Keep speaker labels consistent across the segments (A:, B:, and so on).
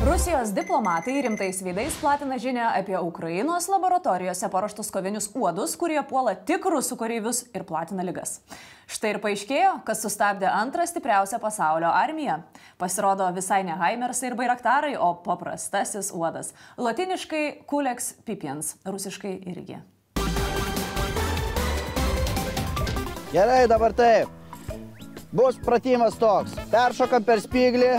A: Rusijos diplomatai rimtais veidais platina žinią apie Ukrainos laboratorijose paruoštus kovinius uodus, kurie puola tik rusų kareivius ir platina ligas. Štai ir paaiškėjo, kas sustabdė antrą stipriausią pasaulio armiją. Pasirodo visai ne Haimersai ir Bairaktarai, o paprastasis uodas. Latiniškai Culex pipiens, rusiškai irgi.
B: Gerai, dabar taip. Bus pratimas toks. Peršokam per spyglį,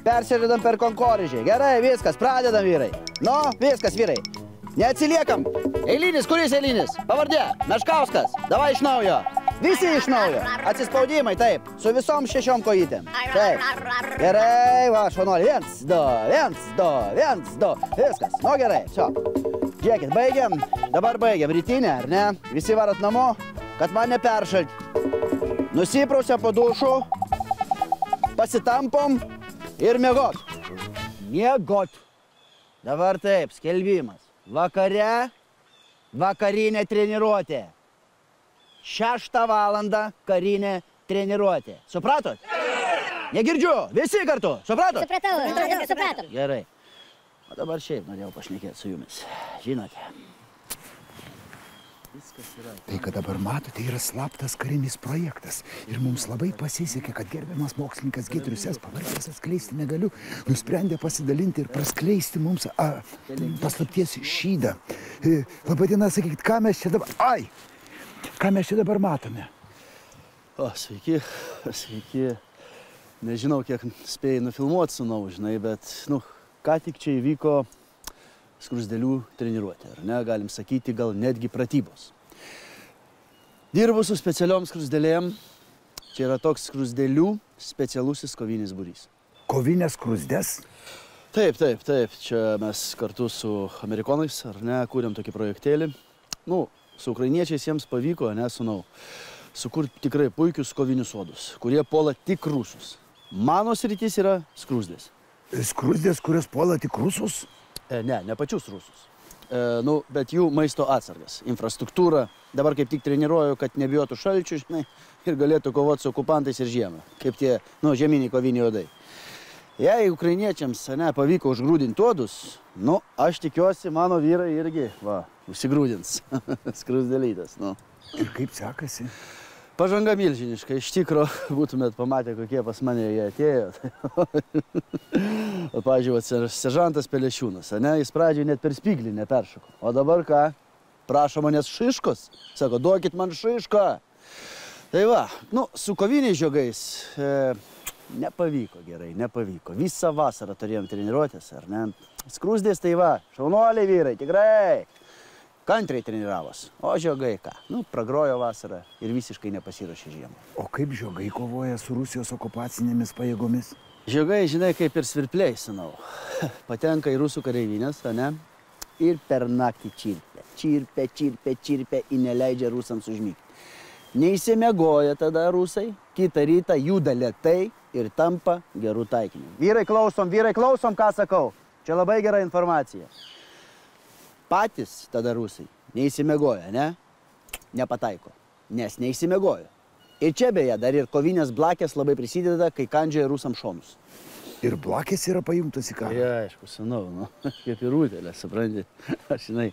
B: persėdam per konkorėžį. Gerai, viskas, pradedam, vyrai. Nu, viskas, vyrai. Neatsiliekam. Eilinis, kuris eilinis? Pavardė, Meškauskas. Davai iš naujo. Visi iš naujo. Atsispaudimai, taip. Su visom 6 kojytėm. Taip. Gerai, va, švanuolį. 1, 2, 1, 2, 1, 2. Viskas. Nu, gerai, šio. Žiūrėkit, baigiam. Dabar baigiam. Rytinę, ar ne? Visi varat namo, kad man neperšalt. Nusiprausiam po dušų, pasitampom ir miegot. Miegot. Dabar taip, skelbimas. Vakare, vakarinė treniruotė. 6 valandą karinė treniruotė. Supratot? Negirdžiu, visi kartu. Supratot?
C: Supratom.
B: Gerai. O dabar šiaip norėjau pašnekėti su jumis. Žinote.
D: Tai, kad dabar matote, yra slaptas karinis projektas. Ir mums labai pasisekė, kad gerbiamas mokslininkas Giedrius S. pavardės atskleisti negaliu, nusprendė pasidalinti ir praskleisti mums paslapties šydą. Labadiena, sakykit, ką mes čia dabar... Ką mes čia dabar matome?
B: O, sveiki, sveiki. Nežinau, kiek spėjai nufilmuoti sūnau, žinai, bet, ką tik čia įvyko skrusdėlių treniruotė, ar ne, galim sakyti, gal netgi pratybos. Dirbu su specialiom skrusdėlėm. Čia yra toks skrusdėlių specialusis kovinis būrys.
D: Kovinės skrusdės?
B: Taip. Čia mes kartu su amerikonais, ar ne, kūrėm tokį projektėlį. Su ukrainiečiais jiems pavyko, ne, sūnau, sukurti tikrai puikius kovinius uodus, kurie puola tik rusus. Mano sritis yra skrusdės.
D: Skrusdės, kurios puola tik rusus?
B: Ne pačius rusus. Bet jų maisto atsargas, infrastruktūra. Dabar kaip tik treniruoju, kad nebijotų šalčių, žinai, ir galėtų kovoti su okupantais ir žiemą, kaip tie, žieminiai koviniai uodai. Jei ukrainiečiams, pavyko užgrūdinti uodus, aš tikiuosi, mano vyrai irgi, užsigrūdins. Skrusdėlytas,
D: Ir kaip sekasi?
B: Pažanga milžiniška, iš tikro būtumėt pamatę, kokie pas mane jie atėjo. Pavyzdžiui, seržantas Pelešiūnas, jis pradžioje net per spyglį neperšoko. O dabar ką? Prašo manęs šiškos. Sako, duokit man šišką. Tai va, su koviniais žiogais nepavyko gerai, nepavyko. Visą vasarą turėjom treniruotės, ar ne? Skrusdės tai va, šaunuoliai vyrai, tikrai. Kantriai treniravos, o žiogai ką? Pragrojo vasarą ir visiškai nepasiruošė žiemą.
D: O kaip žiogai kovoja su Rusijos okupacinėmis pajėgomis?
B: Žiogai, žinai, kaip ir svirpliai, sūnau. Patenka į rusų kareivinės, ne? Ir per naktį čirpia. Čirpia ir neleidžia rusams užmygti. Neįsimiegoja tada rusai, kitą rytą juda lėtai ir tampa gerų taikinių. Vyrai, klausom, ką sakau. Čia labai gera informacija. Patys tada rusai neįsimiegoja, ne? Nepataiko, nes neįsimiegojo. Ir čia beje, dar ir kovinės blakės labai prisideda, kai kandžioja rusam šonus.
D: Ir blakės yra pajungtas į karą?
B: Ja, aišku, sūnau, kaip ir rūtelė, supranti. Aš, žinai,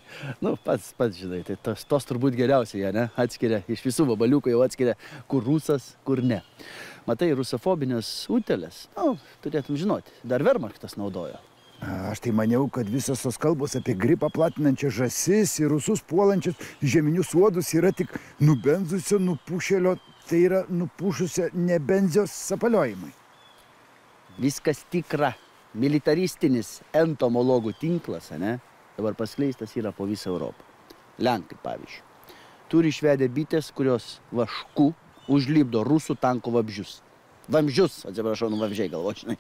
B: pats, žinai, tai tos turbūt geriausiai, ne? Atskiria, iš visų vabaliukų jau atskiria, kur rusas, kur ne. Matai, rusofobinės rūtelės, turėtum žinoti, dar Wehrmachtas naudojo.
D: Aš tai maniau, kad visos tos kalbos apie gripą platinančias žąsis ir rusus puolančius žeminius uodus yra tik nubenzusio nupušėlio, tai yra nupušusio nebenzijos sapaliojimai.
B: Viskas tikra. Militaristinis entomologų tinklas, dabar paskleistas yra po visą Europą. Lenkai, pavyzdžiui, turi išvedę bitės, kurios vašku užlipdo rusų tankų vabzdžius. Vamzdžius, atsiprašau, vamzdžiai galvočinai.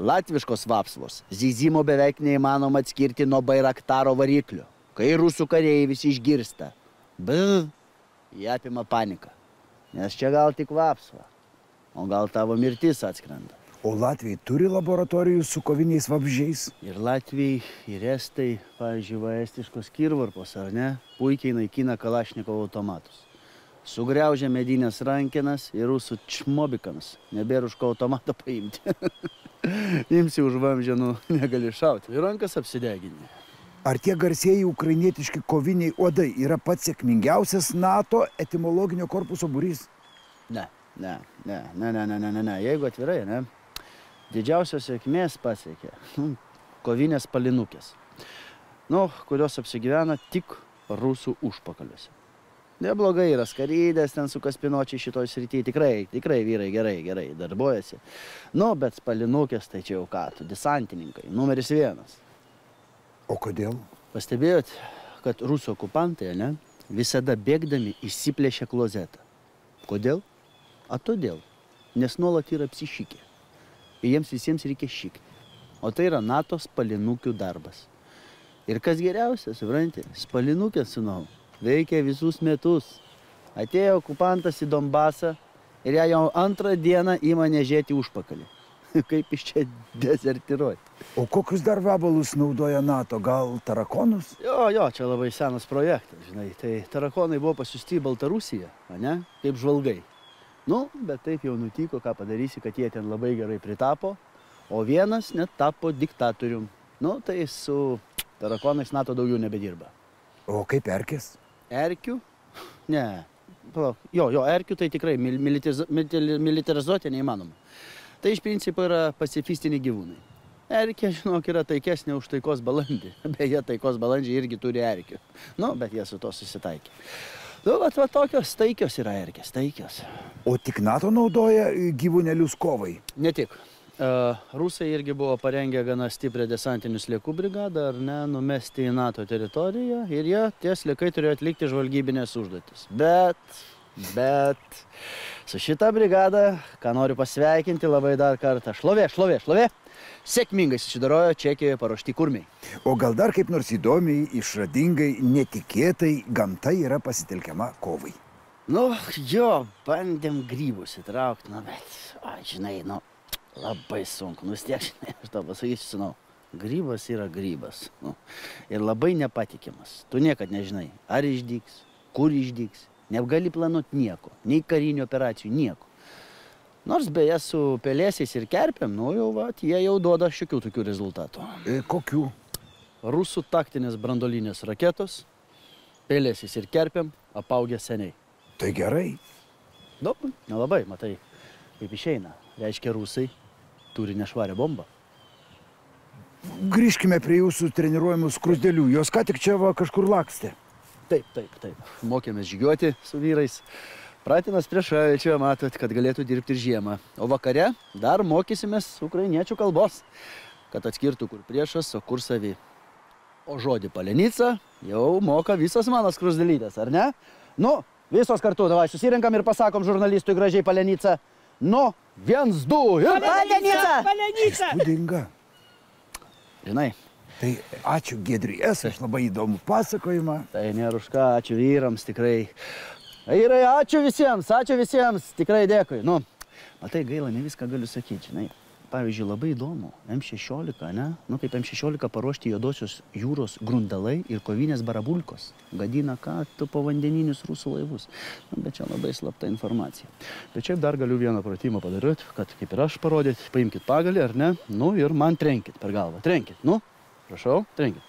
B: Latviškos vapsvos zyzimo beveik neįmanoma atskirti nuo Bairaktaro variklio. Kai rusų kariai visi išgirsta, jie apima paniką. Nes čia gal tik vapsva, o gal tavo mirtis atskrenda.
D: O Latvijai turi laboratorijų su koviniais vabzdžiais?
B: Ir Latvijai, ir Estai, pavyzdžiui, va estiškos kirvarpos, ar ne, puikiai naikina Kalašnikovo automatus. Sugriaužia medinės rankenas ir rusų čmobikams. Nebėra už ko automatą paimti. Imsi už vamzdžio, negali šauti. Ir rankas apsideginė.
D: Ar tie garsieji ukrainietiški koviniai uodai yra pats sėkmingiausias NATO etimologinio korpuso būrys?
B: Ne. Jeigu atvirai, ne, didžiausios sėkmės pasiekė kovinės palinukės, kurios apsigyvena tik rusų užpakaliuose. Neblogai yra skarydės, ten su kaspinočiai šitoj srityje, tikrai vyrai gerai darbuojasi. Bet palinukės tai čia jau ką, desantininkai, numeris 1.
D: O kodėl?
B: Pastebėjot, kad rusų okupantai, ne, visada bėgdami išsiplėšia klozetą. Kodėl? A todėl, nes nuolat yra apsišykę. Ir jiems visiems reikia šykti. O tai yra NATO spalinukių darbas. Ir kas geriausia, supranti, spalinukė, sūnau, veikia visus metus. Atėjo okupantas į Donbasą ir ją jau 2 dieną ima nežėti užpakalį. Kaip iš čia dezertiruoti.
D: O kokius dar vabalus naudoja NATO? Gal tarakonus?
B: Jo, čia labai senas projektas, žinai. Tai tarakonai buvo pasiųsti į Baltarusiją, ne? Kaip žvalgai. Bet taip jau nutiko, ką padarysi, kad jie ten labai gerai pritapo, o vienas net tapo diktatorium. Tai su tarakonais NATO daugiau nebedirba.
D: O kaip erkės?
B: Erkių? Ne. Erkių tai tikrai militarizuoti neįmanoma. Tai iš principo yra pacifistiniai gyvūnai. Erkė, žinok, yra taikesnė už taikos balandį. Beje, taikos balandžiai irgi turi erkių. Bet jie su to susitaikė. Tokios taikios yra erkės, taikios.
D: O tik NATO naudoja gyvūnelius kovai?
B: Ne tik. Rusai irgi buvo parengę gana stiprią desantinių sliekų brigadą, ar ne, numesti į NATO teritoriją ir tie sliekai turėjo atlikti žvalgybinės užduotis. Bet su šita brigada, ką noriu pasveikinti labai dar kartą, šlovė. Sėkmingai susidarojo Čekijoje paruošti kurmiai.
D: O gal dar kaip nors įdomiai, išradingai, netikėtai gamta yra pasitelkiama kovai?
B: Bandėm grybus įtraukti, bet, žinai, labai sunku. Vis tiek, žinai, aš tau pasakysiu, sūnau, grybas yra grybas. Ir labai nepatikimas. Tu niekad nežinai, ar išdygs, kur išdygs. Negali planuoti nieko, nei karinių operacijų, nieko. Nors beje su pelėsiais ir kerpėm, jie jau duoda šiokių tokių rezultatų.
D: Kokių?
B: Rusų taktinės branduolinės raketos, pelėsiais ir kerpėm apaugę seniai.
D: Tai gerai.
B: Nelabai, matai, kaip išeina. Reiškia, rusai turi nešvarę bombą.
D: Grįžkime prie jūsų treniruojamų skruzdėlių. Jos ką tik čia kažkur lakstė.
B: Taip. Mokėmės žygiuoti su vyrais. Pratinas prie šalčio, matot, kad galėtų dirbti ir žiemą. O vakare dar mokysimės ukrainiečių kalbos, kad atskirtų, kur priešas, o kur savi. O žodį palenica jau moka visas mano skruzdėlytės, ar ne? Visos kartu, davai, susirinkam ir pasakom žurnalistui gražiai palenica. 1, 2 ir palenica!
D: Įspūdinga.
B: Žinai.
D: Tai ačiū Giedriui S. Aš labai įdomų pasakojimą.
B: Tai nėra už ką, ačiū vyrams, tikrai. Vyrai, ačiū visiems, tikrai dėkui. Matai, gaila, ne viską galiu sakyti, žinai. Pavyzdžiui, labai įdomu, M16, ne? Kaip M16 paruošti juodosios jūros grundalai ir kovinės barabulkos. Gadina ką, tu povandeninius rusų laivus. Bet čia labai slapta informacija. Bet čia dar galiu vieną pratimą padaryti, kad kaip ir aš parodyti, paimkit pagalį, ar ne? Ir man trenkit per galvą. Trenkit, prašau, trenkit.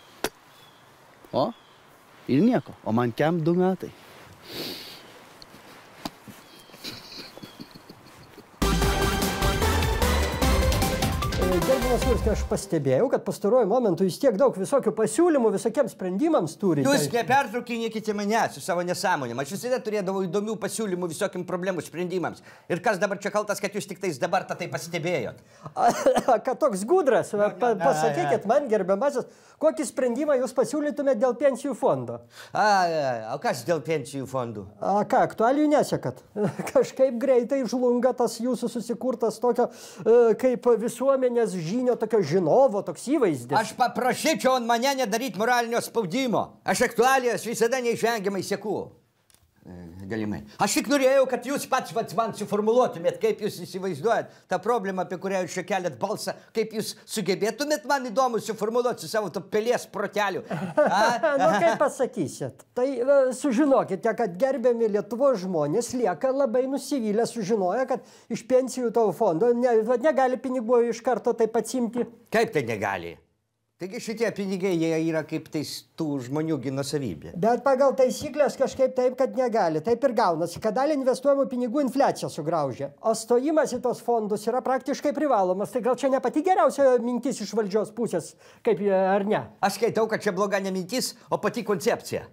B: O, ir nieko. O man kem 2 metai.
C: Gerbiamas Svirski, aš pastebėjau, kad pastaruoju momentu jūs tiek daug visokių pasiūlymų visokiems sprendimams turite.
E: Jūs nepertraukinėkite mane su savo nesąmonėm. Aš visada turėdavau įdomių pasiūlymų visokiam problemų sprendimams. Ir kas dabar čia kaltas, kad jūs tik tais dabar tai pastebėjot?
C: Kad toks gudras, pasakykit man, gerbiamasis, kokį sprendimą jūs pasiūlytumėte dėl pensijų fondo?
E: O kas dėl pensijų fondų?
C: Ką, aktualijų nesekat? Kažkaip greitai žlunga tas jūsų susikurtas tokio kaip visuomenės žinio, tokio žinovo, toks įvaizdis.
E: Aš paprašyčiau ant mane nedaryti moralinio spaudimo. Aš aktualijas visada neišvengiamai seku. Galimai. Aš tik norėjau, kad jūs pats man suformuluotumėt, kaip jūs įsivaizduojat tą problemą, apie kurią jūs čia keliat balsą, kaip jūs sugebėtumėt man įdomu suformuluoti su savo to pelės proteliu.
C: Kaip pasakysit, tai sužinokite, kad gerbiami Lietuvos žmonės lieka labai nusivylę, sužinoja, kad iš pensijų tavo fondo negali pinigų iš karto taip atsimti.
E: Kaip tai negali? Taigi šitie pinigai, jie yra kaip tais tų žmonių nusavybė.
C: Bet pagal taisyklės kažkaip taip, kad negali. Taip ir gaunasi, kad dalį investuojamų pinigų infliacija sugraužia. O stojimas į tos fondus yra praktiškai privalomas. Tai gal čia ne pati geriausia mintis iš valdžios pusės, kaip ar ne?
E: Aš skaitau, kad čia bloga ne mintis, o pati koncepcija.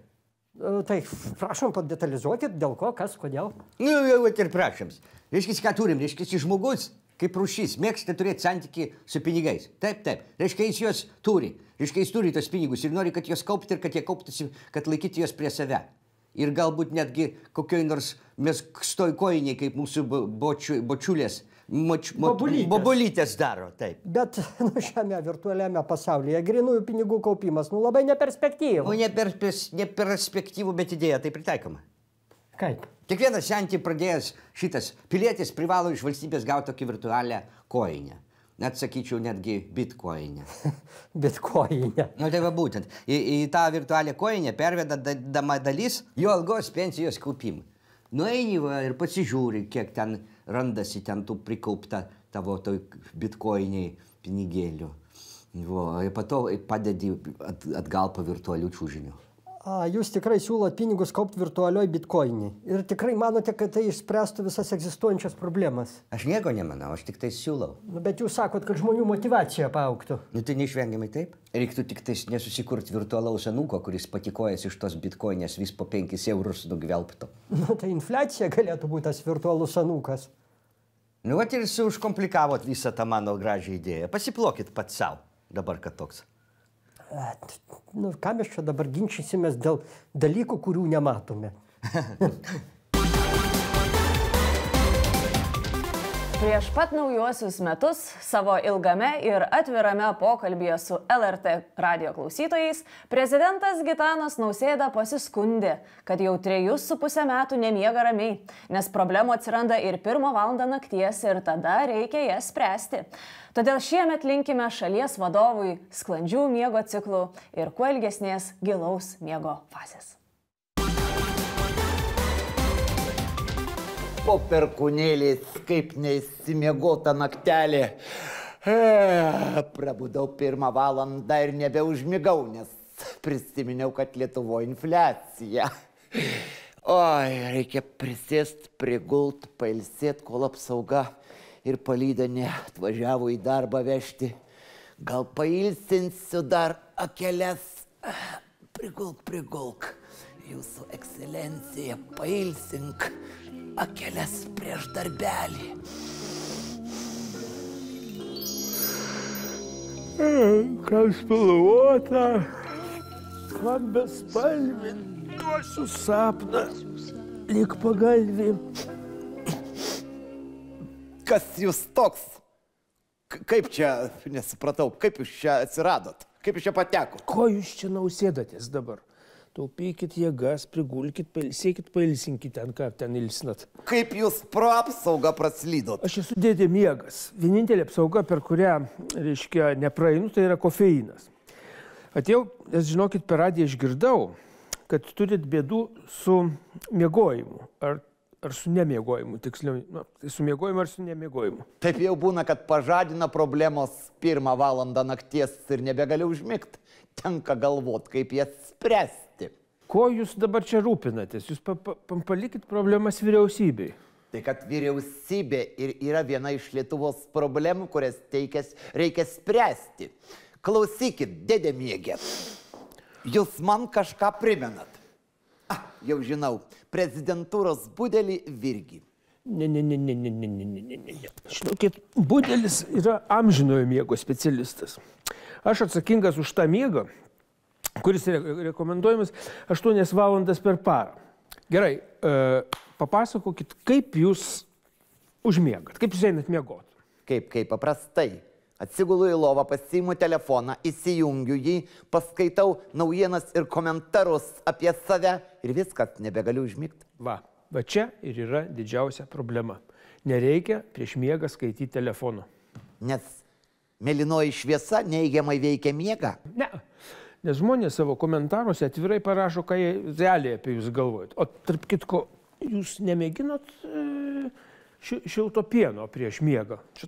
C: Tai prašom padetalizuokit, dėl ko, kas, kodėl.
E: Nu, jau ir prašom. Reiškia, ką turim? Reiškia, žmogus kaip rūšys, mėgsta turėti santykį su pinigais. Taip. Reiškia, jis juos turi. Reiškia, jis turi tos pinigus ir nori, kad juos kaupti ir kad jie kauptųsi, kad laikyti juos prie save. Ir galbūt netgi kokioj nors mes stojkojiniai, kaip mūsų bočiulės, bobulytės daro. Taip.
C: Bet šiame virtualiame pasaulyje grinųjų pinigų kaupimas, labai neperspektyvų.
E: Neperspektyvų, bet idėja tai pritaikoma.
C: Kaip?
E: Kiekvienas sentį pradėjęs šitas pilietis privalo iš valstybės gauti tokį virtualią koinę. Net sakyčiau, netgi bitkoinę.
C: Bitkoinę.
E: Nu tai va būtent. Į tą virtualią koinę pervedama dalis jo algos pensijos kaupimui. Nueini ir pasižiūri, kiek ten randasi ten tų prikaupta tavo toj bitkoiniai pinigėlių. Ir po to padedi atgal po virtualių čiūžinių.
C: Jūs tikrai siūlot pinigus kaupti virtualioj bitkoinį. Ir tikrai manote, kad tai išspręstų visas egzistuojančias problemas?
E: Aš nieko nemanau, aš tik tai siūlau.
C: Bet jūs sakot, kad žmonių motyvacija paaugtų.
E: Nu tai neišvengiamai taip. Reiktų tik tai nesusikurti virtualaus anūko, kuris patikojęs iš tos bitkoinės vis po 5 eurus nugvelbtų.
C: Nu tai infliacija galėtų būti tas virtualus anūkas.
E: Nu vat ir užkomplikavot visą tą mano gražią idėją. Pasiplokit pats savo, dabar kad toks.
C: Nu, ką mes čia dabar ginčysimės dėl dalykų, kurių nematome?
A: Prieš pat naujuosius metus savo ilgame ir atvirame pokalbyje su LRT radijo klausytojais prezidentas Gitanas Nausėda pasiskundė, kad jau 3,5 metų nemiega ramiai, nes problemų atsiranda ir 1 valandą nakties ir tada reikia jas spręsti. Todėl šiemet linkime šalies vadovui sklandžių miego ciklų ir kuo ilgesnės gilaus miego fazės.
F: Po perkūnėlės, kaip neįsimiegota naktelė. Prabudau 1 valandą ir nebeužmigau, nes prisiminiau, kad Lietuvoje infliacija. Oi, reikia prisėst, prigult, pailsėt, kol apsauga ir palydinė atvažiavo į darbą vežti. Gal pailsinsiu dar akeles. Prigulk. Jūsų ekscelencija, pailsink akeles prieš darbelį.
G: Kam spalvota, kam bespalvė, duosiu sapną, lyg pagalvį.
F: Kas jūs toks? Kaip čia, nesupratau, kaip jūs čia atsiradot? Kaip jūs čia pateko?
G: Ko jūs čia nausėdatės dabar? Taupykit jėgas, prigulkit, pailsėkit, pailsinkit ten, ką ten ilsinat.
F: Kaip jūs pro apsaugą praslydot?
G: Aš esu dėdė miegas. Vienintelė apsauga, per kurią, reiškia, nepraeinu, tai yra kofeinas. Atėjau, nes žinokit, per radiją išgirdau, kad turit bėdų su miegojimu. Ar su nemiegojimu, tiksliau. Tai su miegojimu ar su nemiegojimu?
F: Taip jau būna, kad pažadina problemos 1 valandą nakties ir nebegaliu užmigt. Tenka galvot, kaip jas spręsti.
G: Ko jūs dabar čia rūpinatės? Jūs palikit problemas vyriausybei.
F: Tai kad vyriausybė ir yra viena iš Lietuvos problemų, kurias reikia spręsti. Klausykit, dėdė miegė. Jūs man kažką primenat. Jau žinau, prezidentūros budelį Virgį.
G: Ne. Žinokit, budelis yra amžinojo miego specialistas. Aš atsakingas už tą miegą, kuris rekomenduojamas 8 valandas per parą. Gerai, papasakokit, kaip jūs užmiegat, kaip jūs einat miegot.
F: Kaip paprastai. Atsigulu į lovą, pasiimu telefoną, įsijungiu jį, paskaitau naujienas ir komentarus apie save ir viskas, nebegaliu užmigti.
G: Va čia ir yra didžiausia problema. Nereikia prieš miegą skaityti telefono.
F: Nes mėlynoji šviesa neigiamai veikia miegą.
G: Ne, nes žmonės savo komentaruose atvirai parašo, ką jie realiai apie jūs galvojat. O tarp kitko, jūs nemėginot šilto pieno prieš miegą? Čia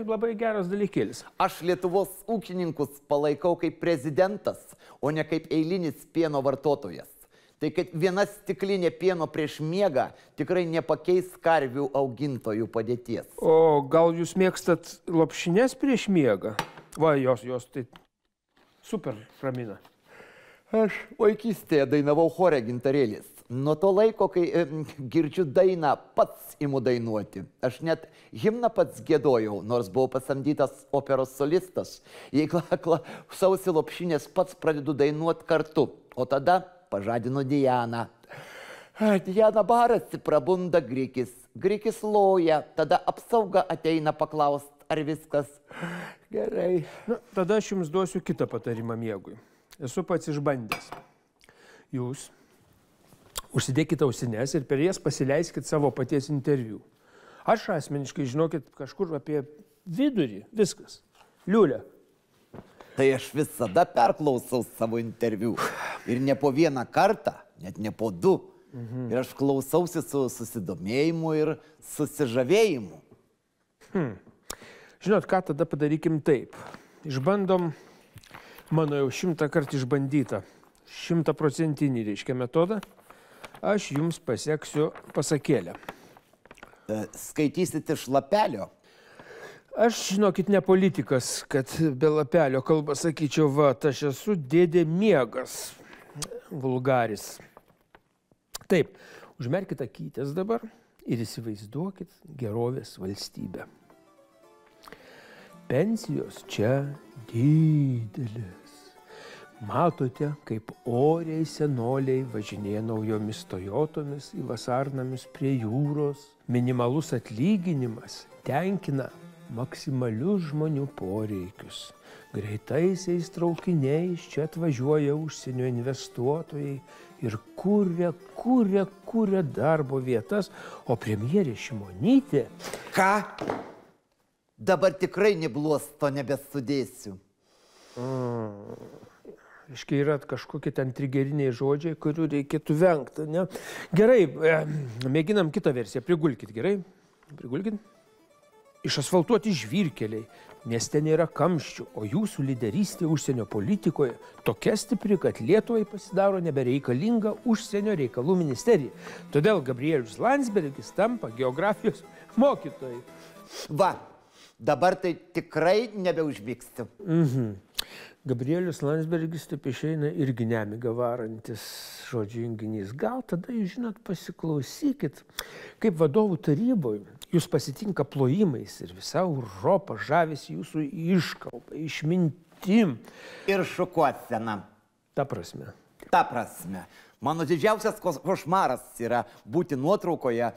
G: labai geras dalykėlis.
F: Aš Lietuvos ūkininkus palaikau kaip prezidentas, o ne kaip eilinis pieno vartotojas. Tai kad viena stiklinė pieno prieš miegą tikrai nepakeis karvių augintojų padėties.
G: O gal jūs mėgstat lopšines prieš miegą? Va, jos tai super ramina.
F: Aš vaikystėje dainavau chore Gintarėlis. Nuo to laiko, kai girdžiu dainą, pats imu dainuoti. Aš net himną pats gėdojau, nors buvau pasamdytas operos solistas. Jei klausausi lopšinės, pats pradedu dainuoti kartu. O tada pažadinu Dianą. Diana barasi, prabunda Grikis. Grikis loja, tada apsauga ateina paklaust, ar viskas gerai.
G: Tada aš jums duosiu kitą patarimą miegui. Esu pats išbandęs. Jūs užsidėkite ausines ir per jas pasileiskit savo paties interviu. Aš asmeniškai, žinokit, kažkur apie vidurį, viskas. Liulė.
F: Tai aš visada perklausau savo interviu. Ir ne po vieną kartą, net ne po du. Ir aš klausausi su susidomėjimu ir susižavėjimu.
G: Žinot, ką tada padarykim taip. Išbandom mano jau 100 kartų išbandytą, 100% reiškia metodą. Aš jums paseksiu pasakėlę.
F: Skaitysit iš lapelio?
G: Aš, žinokit, ne politikas, kad be lapelio kalbą sakyčiau, va, aš esu dėdė miegas, vulgaris. Taip, užmerkite akytes dabar ir įsivaizduokit gerovės valstybę. Pensijos čia didelės. Matote, kaip oriai senoliai važinėja naujomis Toyotomis į vasarnamius prie jūros. Minimalus atlyginimas tenkina maksimalius žmonių poreikius. Greitaisiais traukiniais čia atvažiuoja užsienio investuotojai ir kuria darbo vietas, o premjerė Šimonytė...
F: Ką? Dabar tikrai nebluosto nebesudėsiu.
G: Iškai yra kažkokie ten trigeriniai žodžiai, kurių reikėtų vengti, ne? Gerai, mėginam kitą versiją. Prigulkit, gerai? Prigulkit. Išasfaltuoti žvyrkeliai. Mieste nėra kamščių, o jūsų lyderystė užsienio politikoje tokia stipri, kad Lietuvai pasidaro nebereikalinga užsienio reikalų ministerija. Todėl Gabrielius Landsbergis tampa geografijos mokytojai.
F: Va, dabar tai tikrai nebeužmigsiu.
G: Gabrielius Landsbergis taip išeina irgi nemiga varantis žodžių junginys. Gal tada, jūs žinot, pasiklausykit, kaip vadovų taryboje jūs pasitinka plojimais ir visa Europa žavisi jūsų iškalbą, išmintim.
F: Ir šukuosena.
G: Ta prasme.
F: Ta prasme. Mano didžiausias košmaras yra būti nuotraukoje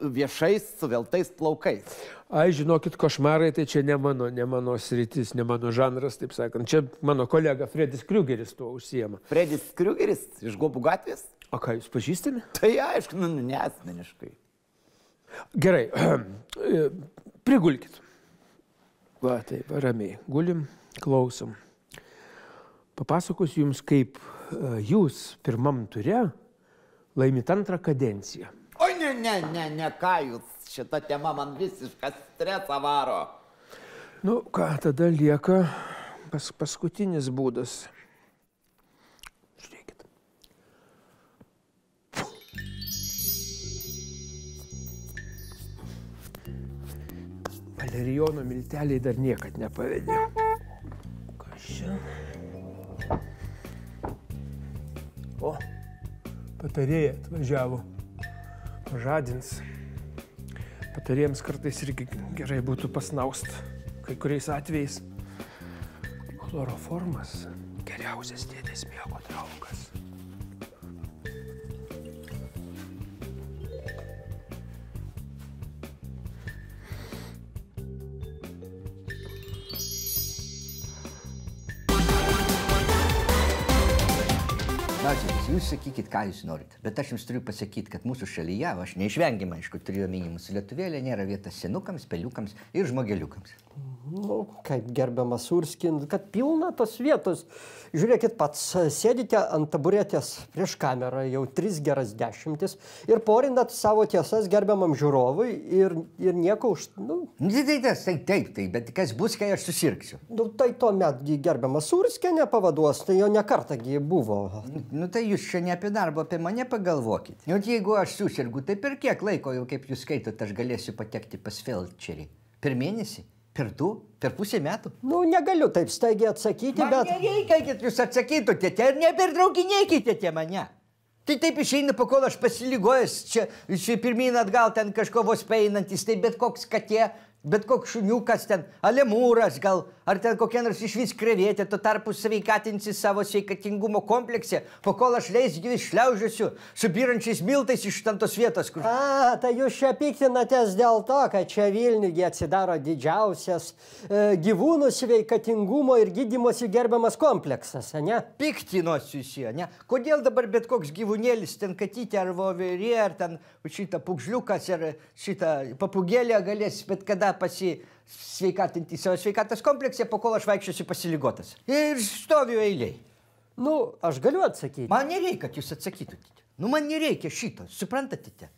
F: viešais suveltais plaukais.
G: Ai, žinokit, košmarai tai čia ne mano sritis, ne mano žanras, taip sakant. Čia mano kolega Fredis Kriugeris tuo užsiema.
F: Fredis Kriugeris iš Guobų gatvės?
G: O ką, jūs pažįstami?
F: Tai aišku, ne asmeniškai.
G: Gerai, prigulkit. Va, taip, ramiai. Gulim, klausom. Papasakosiu jums, kaip jūs pirmam ture laimit antrą kadenciją.
F: Oi, ne, ką jūs, šita tema man visišką stresą varo.
G: Nu, ką, tada lieka paskutinis būdas. Žiūrėkit. Valerijono milteliai dar niekad nepavedė. Kas čia? O, patarėja atvažiavo. Pažadins. Patarėjams kartais irgi gerai būtų pasnaust. Kai kuriais atvejais. Chloroformas geriausias dėdės miego draugas.
E: klausykit, jūs sakykit, ką jūs norit. Bet aš jums turiu pasakyti, kad mūsų šalyje, aš neišvengiamai, aišku, turiu omeny mūsų Lietuvėlė, nėra vietos senukams, peliukams ir žmogeliukams.
C: Nu, kaip gerbiamas Urskin, kad pilna tos vietos. Žiūrėkit, pats sėdite ant taburetės prieš kamerą jau 3 geras dešimtis ir porinat savo tiesas gerbiamam žiūrovui ir nieko už... Nu,
E: Taip, bet kas bus, kai aš susirgsiu?
C: nu, tai tuomet gerbiamas Urskinė pavaduos, tai jo nekartagi buvo.
E: Nu tai jūs čia ne apie darbą, apie mane pagalvokit. Nu, jeigu aš susirgu, tai per kiek laiko, jau kaip jūs skaitot, aš galėsiu patekti pas felčerį? Per mėnesį? Per 2? Per pusę metų?
C: Nu, negaliu taip staigiai atsakyti,
E: Man nereikia, kad jūs atsakytumėte ir nepertraukinėkite mane. Tai taip išeina, pakol aš pasiligojęs, čia pirmyn atgal ten kažko vos paeinantis, tai bet koks katė, bet koks šuniukas ten, alemūras gal, ar ten kokia nors išvis krevetė, tuo tarpu sveikatinsi savo sveikatingumo komplekse, pakol aš leisgyvis šliaužiuosiu su byrančiais miltais iš tos vietos, kur...
C: A, tai jūs čia piktinatės dėl to, kad čia Vilniuje atsidaro didžiausias gyvūnų sveikatingumo ir gydymosi gerbiamas kompleksas, ne?
E: Piktinosiusi, ne? Kodėl dabar bet koks gyvūnėlis, ten katytė ar voverė, ar ten šitą pukžliukas, ar šitą papugėlę galės bet kada pasisveikatinti savo sveikatos komplekse, po kol aš vaikščiosiu pasiligotas. Ir stoviu eiliai.
C: Nu, aš galiu atsakyti.
E: Man nereikia, kad jūs atsakytumėte. Nu, man nereikia šito, suprantate?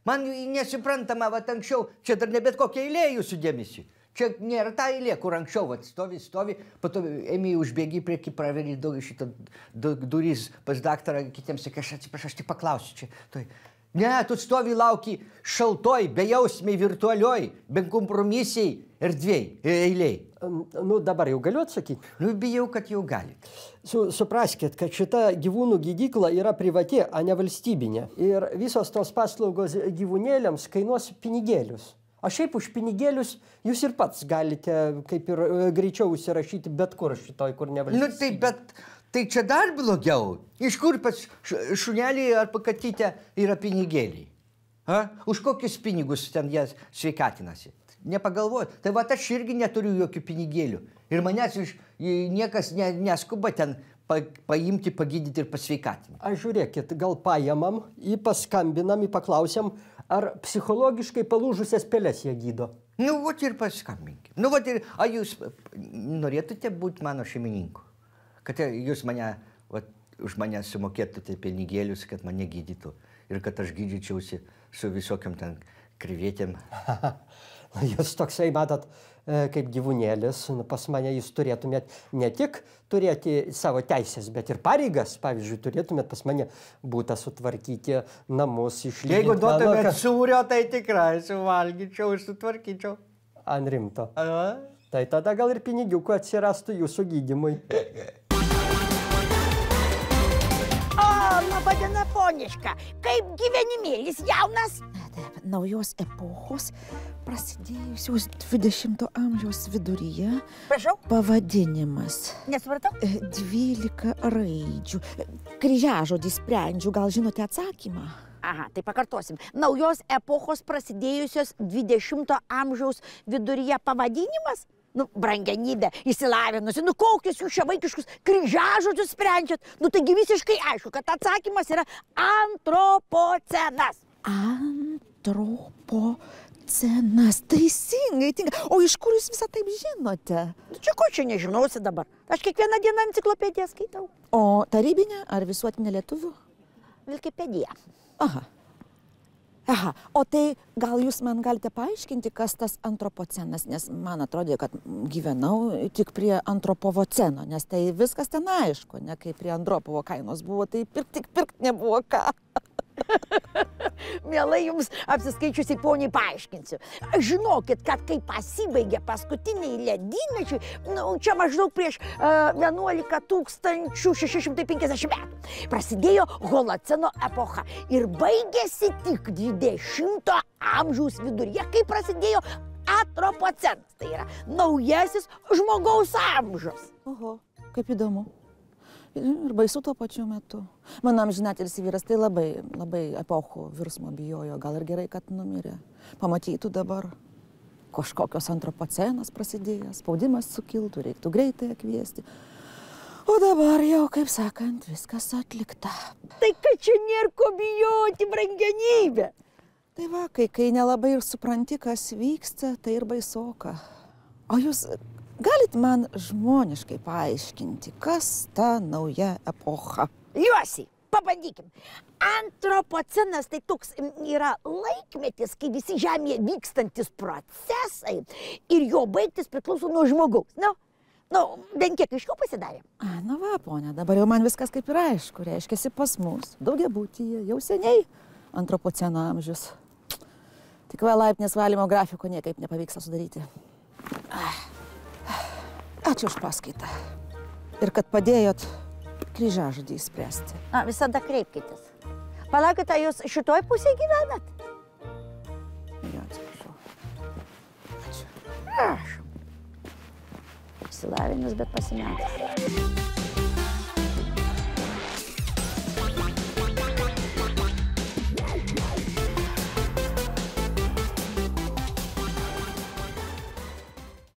E: Man nesuprantama, va, anksčiau, čia dar ne bet kokia eilė jūsų dėmesį. Čia nėra ta eilė, kur anksčiau, va, stovi, po to ėmė užbėgi prieki, praverį šitą durys pas daktarą, kitiems sakė, aš atsiprašau, aš tik paklausiu čia. Ne, tu stovi lauki šaltoj, bejausmiai, virtualioj, benkompromisiai eiliai.
C: Nu, dabar jau galiu atsakyti?
E: Nu, bijau, kad jau gali.
C: Supraskit, kad šita gyvūnų gydykla yra privati, o ne valstybinė. Ir visos tos paslaugos gyvūnėliams kainuos pinigėlius. O šiaip už pinigėlius jūs ir pats galite kaip ir greičiau užsirašyti bet kur šitoj, kur ne valstybinė.
E: Nu, tai bet... Tai čia dar blogiau. Iš kur pas šunelį ar pakatytę yra pinigėliai? Už kokius pinigus ten jie sveikatinasi? Nepagalvoju. Tai va, aš irgi neturiu jokių pinigėlių. Ir manęs niekas neskuba ten paimti, pagydyti ir pasveikatinti.
C: Aš žiūrėkit, gal paėmam, paskambinam, paklausiam, ar psichologiškai palūžusias pelės jie gydo.
E: Nu, vat ir paskambinkim. Nu, vat ir, ar jūs norėtumėte būti mano šeimininku? Kad jūs už mane sumokėtumėte pinigėlius, kad mane gydytų. Ir kad aš gydyčiausi su visokiam ten krevetėm.
C: Jūs toksai, matot, kaip gyvūnėlis, pas mane jūs turėtumėt ne tik turėti savo teisės, bet ir pareigas. Pavyzdžiui, turėtumėt pas mane būtą sutvarkyti, namus išlyginti.
E: Jeigu duotumėt sūrio, tai tikrai suvalgyčiau ir sutvarkyčiau.
C: Ant rimto. Tai tada gal ir pinigiukų atsirastų jūsų gydymui.
H: Labadiena, poniška. Kaip gyvenimėlis jaunas? Taip, naujos epochos, prasidėjusios 20 amžiaus viduryje. Prašau? Pavadinimas. Nesupratau? 12 raidžių. Kryžiažodį sprendžiu, gal žinote atsakymą? Aha, tai pakartosim. Naujos epochos prasidėjusios 20 amžiaus viduryje pavadinimas? Nu, brangenybė, išsilavinusi, nu kokius jūs čia vaikiškus kryžiažodžius sprendžiat? Nu, taigi visiškai aišku, kad atsakymas yra antropocenas. Antropocenas, teisingai, tinka. O iš kur jūs visą taip žinote? Nu, čia ko čia nežinosi dabar? Aš kiekvieną dieną enciklopediją skaitau. O tarybinė ar visuotinė lietuvių? Vilkipedija. Aha. Aha, o tai gal jūs man galite paaiškinti, kas tas antropocenas, nes man atrodė, kad gyvenau tik prie antropovoceno, nes tai viskas ten aišku, ne kaip prie Andropovo kainos buvo, tai pirkt nebuvo ką. Mielai jums apsiskaičiusiai poniai paaiškinsiu. Žinokit, kad kai pasibaigė paskutiniai ledynmečiai, nu, čia maždaug prieš 11 650 metų, prasidėjo holoceno epocha ir baigėsi tik 20 amžiaus viduryje, kai prasidėjo antropocenas, tai yra naujasis žmogaus amžius. Oho, kaip įdomu. Ir baisu tuo pačiu metu. Mano amžinatilsį vyras tai labai epochų virsmo bijojo. Gal ir gerai, kad numirė. Pamatytų dabar, kažkokios antropocenas prasidėjęs, spaudimas sukiltų, reiktų greitai kviesti. O dabar jau, kaip sakant, viskas atlikta. Tai kad čia nėra ko bijoti, brangenybė. Tai va, kai nelabai ir supranti, kas vyksta, tai ir baisoka. O jūs galit man žmoniškai paaiškinti, kas ta nauja epocha? Liuosi, pabandykim. Antropocenas tai toks yra laikmetis, kai visi Žemėje vykstantis procesai ir jo baigtis priklauso nuo žmogaus. Bent kiek aiškiau pasidarė. Na va, ponia, dabar jau man viskas kaip ir aišku. Reiškiasi pas mus, daugiabutyje, jau seniai antropoceno amžius. Tik va, laiptinės valymo grafiko niekaip nepavyksta sudaryti. Ačiū už paskaitą. Ir kad padėjot kryžiažodį įspręsti. Visada kreipkitės. Palaukit, jūs šitoj pusėje gyvenat? Jo, atsiprašau. Ačiū. Prašom. Išsilavinęs, bet pasimetęs.